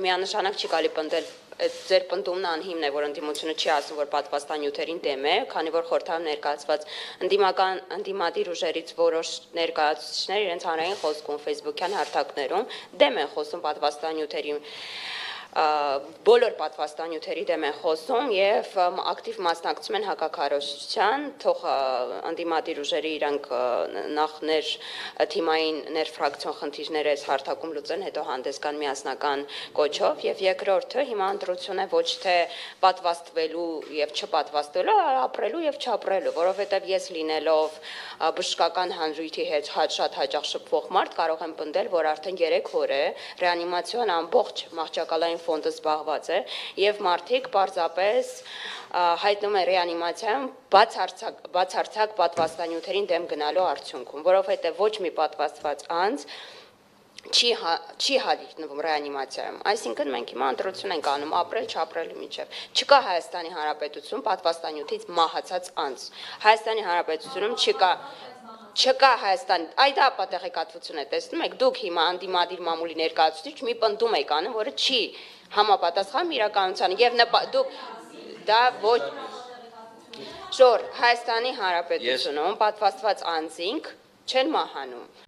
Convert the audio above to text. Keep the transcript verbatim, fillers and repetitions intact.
Միանշանակ չի կարելի պնդել, ձեր պնդումն անհիմն է, որ ընդդիմությունը չի ասում, որ պատվաստանյութերին դեմ է, քանի որ խորհրդարանում ներկայացված ընդդիմական ընդդիմադիր ուժերից որոշ ներկայացուցիչներ իրենց հանրային խոսքում Facebook-յան հարթակներում դեմ են խոսում պատվաստանյութերի բոլոր պատվաստանյութերի դեմ են խոսում եւ ակտիվ մասնակցում են հակակառավարության, թող ընդդիմադիր ուժերի իրանք նախ ներ թիմային ներֆրակցիոն խնդիրներ այս հարթակում լուծեն, հետո հանդես գան միասնական կոչով եւ երկրորդը հիմա ընտրություն է ոչ թե պատվաստվելու եւ չպատվաստվելու, այլ ապրելու եւ չապրելու, որովհետեւ ես լինելով բժշկական հանրույթի հետ շատ հաճախ շփվող մարդ կարող եմ պնդել, որ արդեն երեք օր է ռեանիմացիոն ամբողջ մահճակալային ֆոնդը զբաղված է եւ մարդիկ պարզապես հայտնում են ռեանիմացիայում բացարձակ բացարձակ պատվաստանյութերին դեմ գնալու արդյունքում, որովհետեւ ոչ մի պատվաստված անձ չի չի հանդիպնում ռեանիմացիայում, այսինքն մենք հիմա ընտրություն ենք անում ապրել չապրելու միջև։ Չկա Հայաստանի Հանրապետությունում պատվաստանյութից մահացած անձ։ Հայաստանի Հանրապետությունում չկա Չկա Հայաստան, այդ ապատեղեկատվություն է, տեսնում եք, դուք հիմա անդիմադիր մամուլի ներկայացուցիչ մի պնդում եք անում, որը չի համապատասխանում իրականությանը եւ դուք դա ոչ Ժոր Հայաստանի Հանրապետությունում պատվաստված անձինք չեն մահանում։